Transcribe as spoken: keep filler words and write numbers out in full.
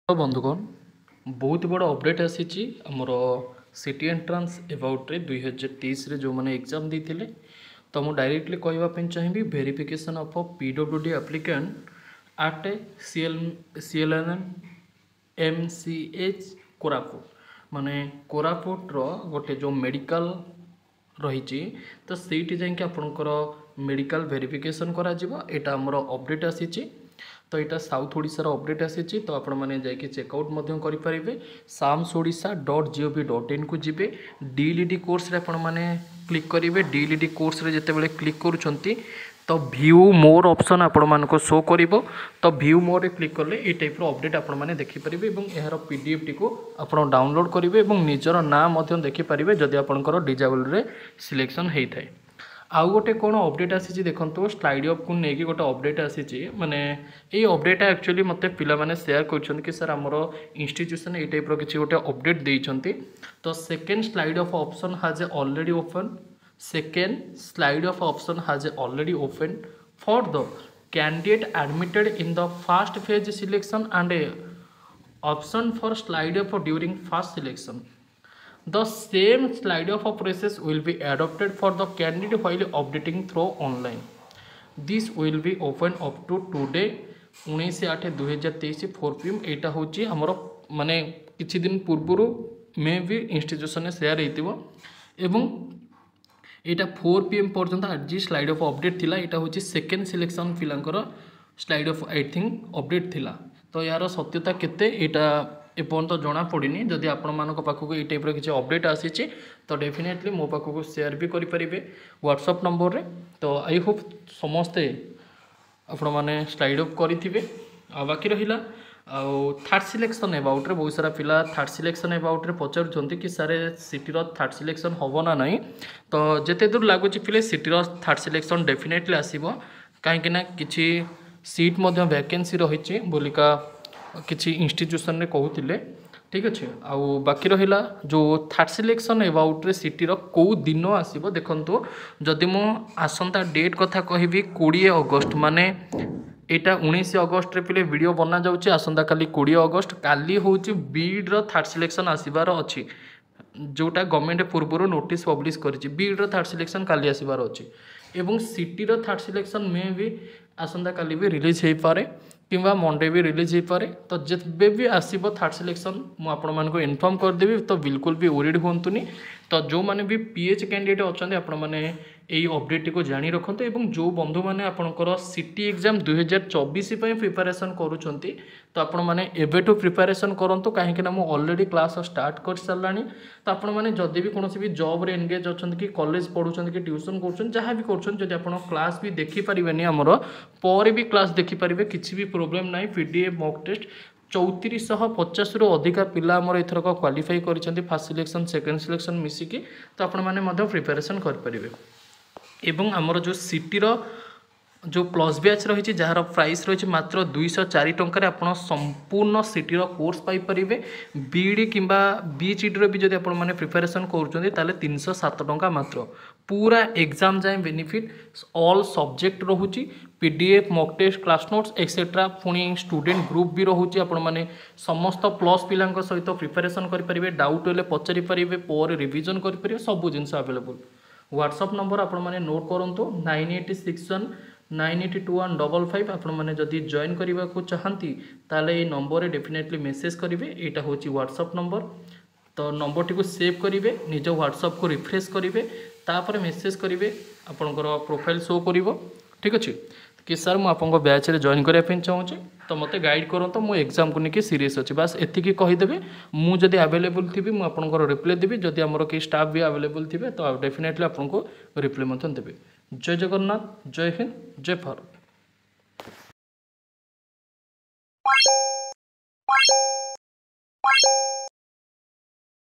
ବନ୍ଧୁଗଣ ବହୁତ ବଡ଼ ଅପଡ଼େଟ୍ ଆସିଛି ଆମର ସିଟି ଏଣ୍ଟ୍ରାନ୍ସ ଏବାଉଟ୍ରେ ଦୁଇ ହଜାର ତେଇଶରେ ଯେଉଁମାନେ ଏକ୍ଜାମ୍ ଦେଇଥିଲେ ତ ମୁଁ ଡାଇରେକ୍ଟଲି କହିବା ପାଇଁ ଚାହିଁବି verification of PWD applicant at C L C L N M C H Koraput ମାନେ କୋରାପୁଟର ଗୋଟେ ଯେଉଁ ମେଡ଼ିକାଲ ରହିଛି ତ ସେଇଠି ଯାଇକି ଆପଣଙ୍କର ମେଡ଼ିକାଲ ଭେରିଫିକେସନ୍ କରାଯିବ ଏଇଟା ଆମର ଅପଡ଼େଟ୍ ଆସିଛି ତ ଏଇଟା ସାଉଥ୍ ଓଡ଼ିଶାର ଅପଡ଼େଟ୍ ଆସିଛି ତ ଆପଣମାନେ ଯାଇକି ଚେକ୍ଆଉଟ୍ ମଧ୍ୟ କରିପାରିବେ SAMS Odisha dot GOV dot ଇନ୍କୁ ଯିବେ ଡିଏଲ୍ଇଡ଼ି କୋର୍ସରେ ଆପଣମାନେ କ୍ଲିକ୍ କରିବେ ଡିଏଲ୍ଇଡ଼ି କୋର୍ସରେ ଯେତେବେଳେ କ୍ଲିକ୍ କରୁଛନ୍ତି ତ ଭ୍ୟୁ ମୋର୍ ଅପସନ୍ ଆପଣମାନଙ୍କୁ ଶୋ କରିବ ତ ଭ୍ୟୁ ମୋର୍ରେ କ୍ଲିକ୍ କଲେ ଏଇ ଟାଇପ୍ର ଅପଡ଼େଟ୍ ଆପଣମାନେ ଦେଖିପାରିବେ ଏବଂ ଏହାର ପି ଡି ଏଫ୍ଟିକୁ ଆପଣ ଡାଉନଲୋଡ଼୍ କରିବେ ଏବଂ ନିଜର ନାଁ ମଧ୍ୟ ଦେଖିପାରିବେ ଯଦି ଆପଣଙ୍କର ଡିଜାବଲ୍ରେ ସିଲେକ୍ସନ୍ ହେଇଥାଏ ଆଉ ଗୋଟେ କ'ଣ ଅପଡ଼େଟ୍ ଆସିଛି ଦେଖନ୍ତୁ ସ୍ଲାଇଡ୍ ଅପ୍କୁ ନେଇକି ଗୋଟେ ଅପଡ଼େଟ୍ ଆସିଛି ମାନେ ଏଇ ଅପଡ଼େଟ୍ଟା ଆକ୍ଚୁଆଲି ମୋତେ ପିଲାମାନେ ସେୟାର କରିଛନ୍ତି କି ସାର୍ ଆମର ଇନଷ୍ଟିଚ୍ୟୁସନ୍ ଏଇ ଟାଇପ୍ର କିଛି ଗୋଟେ ଅପଡ଼େଟ୍ ଦେଇଛନ୍ତି ତ second slide up option has a already open second slide up option has already open for the candidate admitted in the first phase selection and a option for slide up during first selection the same slide up process will be adopted for the candidate while updating through online this will be open up to today ଉଣେଇଶ ଆଠ ଦୁଇହଜାର ତେଇଶ four P M ଏଇଟା ହେଉଛି ଆମର ମାନେ କିଛି ଦିନ ପୂର୍ବରୁ ମେ ବି ଇନଷ୍ଟିଚ୍ୟୁସନରେ ସେୟାର ହେଇଥିବ ଏବଂ ଏଇଟା ଫୋର୍ ପି ଏମ୍ ପର୍ଯ୍ୟନ୍ତ ଆଜି ସ୍ଲାଇଡ୍ ଅପ୍ ଅପଡ଼େଟ୍ ଥିଲା ଏଇଟା ହେଉଛି ସେକେଣ୍ଡ ସିଲେକ୍ସନ୍ ପିଲାଙ୍କର slide up I think update ଥିଲା ତ ଏହାର ସତ୍ୟତା କେତେ ଏଇଟା ଏପର୍ଯ୍ୟନ୍ତ ଜଣାପଡ଼ିନି ଯଦି ଆପଣମାନଙ୍କ ପାଖକୁ ଏଇ ଟାଇପ୍ର କିଛି ଅପଡ଼େଟ୍ ଆସିଛି ତ ଡେଫିନେଟଲି ମୋ ପାଖକୁ ସେୟାର ବି କରିପାରିବେ ହ୍ୱାଟ୍ସଆପ୍ ନମ୍ବରରେ ତ I Hope ସମସ୍ତେ ଆପଣମାନେ ସ୍ଲାଇଡ୍ ଅପ୍ କରିଥିବେ ଆଉ ବାକି ରହିଲା ଆଉ ଥାର୍ଡ଼ ସିଲେକ୍ସନ୍ ଏବାଉଟ୍ରେ ବହୁତ ସାରା ପିଲା ଥାର୍ଡ଼ ସିଲେକ୍ସନ୍ ଏବାଉଟ୍ରେ ପଚାରୁଛନ୍ତି କି ସାର୍ ସିଟିର ଥାର୍ଡ଼ ସିଲେକ୍ସନ୍ ହେବ ନା ନାହିଁ ତ ଯେତେ ଦୂର ଲାଗୁଛି ପିଲେ ସିଟିର ଥାର୍ଡ଼ ସିଲେକ୍ସନ୍ ଡେଫିନେଟଲି ଆସିବ କାହିଁକିନା କିଛି ସିଟ୍ ମଧ୍ୟ ଭ୍ୟାକେନ୍ସି ରହିଛି ବୋଲିକା କିଛି ଇନଷ୍ଟିଚ୍ୟୁସନରେ କହୁଥିଲେ ଠିକ୍ ଅଛି ଆଉ ବାକି ରହିଲା ଯେଉଁ ଥାର୍ଡ଼ ସିଲେକ୍ସନ୍ ଏବାଉଟ୍ରେ ସିଟିର କେଉଁ ଦିନ ଆସିବ ଦେଖନ୍ତୁ ଯଦି ମୁଁ ଆସନ୍ତା ଡେଟ୍ କଥା କହିବି କୋଡ଼ିଏ ଅଗଷ୍ଟ ମାନେ ଏଇଟା ଉଣେଇଶ ଅଗଷ୍ଟରେ ପିଲେ ଭିଡ଼ିଓ ବନାଯାଉଛି ଆସନ୍ତାକାଲି କୋଡ଼ିଏ ଅଗଷ୍ଟ କାଲି ହେଉଛି ବିଇଡ଼ିର ଥାର୍ଡ଼ ସିଲେକ୍ସନ୍ ଆସିବାର ଅଛି ଯେଉଁଟା ଗଭର୍ଣ୍ଣମେଣ୍ଟ ପୂର୍ବରୁ ନୋଟିସ୍ ପବ୍ଲିଶ କରିଛି ବିଇଡ଼ିର ଥାର୍ଡ଼ ସିଲେକ୍ସନ୍ କାଲି ଆସିବାର ଅଛି ଏବଂ ସିଟିର ଥାର୍ଡ଼ ସିଲେକ୍ସନ୍ ମେ ବି ଆସନ୍ତାକାଲି ବି ରିଲିଜ୍ ହେଇପାରେ କିମ୍ବା ମଣ୍ଡେ ବି ରିଲିଜ୍ ହେଇପାରେ ତ ଯେବେ ବି ଆସିବ ଥାର୍ଡ଼ ସିଲେକ୍ସନ୍ ମୁଁ ଆପଣମାନଙ୍କୁ ଇନଫର୍ମ କରିଦେବି ତ ବିଲକୁଲ ବି ୱରିଡ଼ ହୁଅନ୍ତୁନି ତ ଯେଉଁମାନେ ବି ପି ଏଚ୍ କ୍ୟାଣ୍ଡିଡେଟ୍ ଅଛନ୍ତି ଆପଣମାନେ ଏଇ ଅପଡ଼େଟ୍ଟିକୁ ଜାଣି ରଖନ୍ତୁ ଏବଂ ଯେଉଁ ବନ୍ଧୁମାନେ ଆପଣଙ୍କର ସିଟି ଏକ୍ଜାମ୍ ଦୁଇହଜାର ଚବିଶ ପାଇଁ ପ୍ରିପାରେସନ୍ କରୁଛନ୍ତି ତ ଆପଣମାନେ ଏବେଠୁ ପ୍ରିପାରେସନ୍ କରନ୍ତୁ କାହିଁକିନା ମୁଁ ଅଲରେଡ଼ି କ୍ଲାସ୍ ଷ୍ଟାର୍ଟ କରିସାରିଲାଣି ତ ଆପଣମାନେ ଯଦି ବି କୌଣସି ବି ଜବ୍ରେ ଏନଗେଜ୍ ଅଛନ୍ତି କି କଲେଜ ପଢ଼ୁଛନ୍ତି କି ଟ୍ୟୁସନ୍ କରୁଛନ୍ତି ଯାହା ବି କରୁଛନ୍ତି ଯଦି ଆପଣ କ୍ଲାସ୍ ବି ଦେଖିପାରିବେନି ଆମର ପରେ ବି କ୍ଲାସ୍ ଦେଖିପାରିବେ କିଛି ବି ପ୍ରୋବ୍ଲେମ୍ ନାହିଁ P D F mock test ଚଉତିରିଶଶହ ପଚାଶରୁ ଅଧିକା ପିଲା ଆମର ଏଥରକ କ୍ୱାଲିଫାଇ କରିଛନ୍ତି ଫାର୍ଷ୍ଟ ସିଲେକ୍ସନ୍ ସେକେଣ୍ଡ ସିଲେକ୍ସନ୍ ମିଶିକି ତ ଆପଣମାନେ ମଧ୍ୟ ପ୍ରିପାରେସନ୍ କରିପାରିବେ ଏବଂ ଆମର ଯେଉଁ ସିଟିର ଯେଉଁ ପ୍ଲସ୍ ବ୍ୟାଚ୍ ରହିଛି ଯାହାର ପ୍ରାଇସ୍ ରହିଛି ମାତ୍ର ଦୁଇଶହ ଚାରି ଟଙ୍କାରେ ଆପଣ ସମ୍ପୂର୍ଣ୍ଣ ସିଟିର କୋର୍ସ ପାଇପାରିବେ ବିଇଡ଼ି କିମ୍ବା ବିଏଚ୍ଇଡ଼ିର ବି ଯଦି ଆପଣମାନେ ପ୍ରିପାରେସନ୍ କରୁଛନ୍ତି ତାହେଲେ ତିନିଶହ ସାତ ଟଙ୍କା ମାତ୍ର ପୁରା ଏକ୍ଜାମ୍ ଯାଏଁ ବେନିଫିଟ୍ ଅଲ୍ ସବଜେକ୍ଟ ରହୁଛି PDF mock test class notes etcetera ପୁଣି ଷ୍ଟୁଡେଣ୍ଟ ଗ୍ରୁପ୍ ବି ରହୁଛି ଆପଣମାନେ ସମସ୍ତ ପ୍ଲସ୍ ପିଲାଙ୍କ ସହିତ ପ୍ରିପାରେସନ୍ କରିପାରିବେ ଡାଉଟ୍ ହେଲେ ପଚାରିପାରିବେ ପରେ ରିଭିଜନ୍ କରିପାରିବେ ସବୁ ଜିନିଷ ଆଭେଲେବୁଲ୍ ହ୍ୱାଟ୍ସଆପ୍ ନମ୍ବର ଆପଣମାନେ ନୋଟ୍ କରନ୍ତୁ nine eight six one nine eight two one double five ଆପଣମାନେ ଯଦି ଜଏନ୍ କରିବାକୁ ଚାହାନ୍ତି ତାହେଲେ ଏଇ ନମ୍ବରରେ ଡେଫିନେଟଲି ମେସେଜ୍ କରିବେ ଏଇଟା ହେଉଛି ହ୍ୱାଟ୍ସଆପ୍ ନମ୍ବର ତ ନମ୍ବରଟିକୁ ସେଭ୍ କରିବେ ନିଜ ହ୍ୱାଟ୍ସଆପ୍କୁ ରିଫ୍ରେଶ୍ କରିବେ ତାପରେ ମେସେଜ୍ କରିବେ ଆପଣଙ୍କର ପ୍ରୋଫାଇଲ୍ ଶୋ କରିବ ଠିକ୍ ଅଛି କି ସାର୍ ମୁଁ ଆପଣଙ୍କ ବ୍ୟାଚ୍ରେ ଜଏନ୍ କରିବା ପାଇଁ ଚାହୁଁଛି ତ ମୋତେ ଗାଇଡ଼ କରନ୍ତୁ ମୁଁ ଏକ୍ଜାମ୍କୁ ନେଇକି ସିରିୟସ୍ ଅଛି ବାସ୍ ଏତିକି କହିଦେବେ ମୁଁ ଯଦି ଆଭେଲେବୁଲ୍ ଥିବି ମୁଁ ଆପଣଙ୍କର ରିପ୍ଲାଏ ଦେବି ଯଦି ଆମର କେହି ଷ୍ଟାଫ୍ ବି ଆଭେଲେବୁଲ୍ ଥିବେ ତ ଡେଫିନେଟଲି ଆପଣଙ୍କୁ ରିପ୍ଲାଏ ମଧ୍ୟ ଦେବେ ଜୟ ଜଗନ୍ନାଥ ଜୟ ହିନ୍ଦ ଜୟ ଭାରତ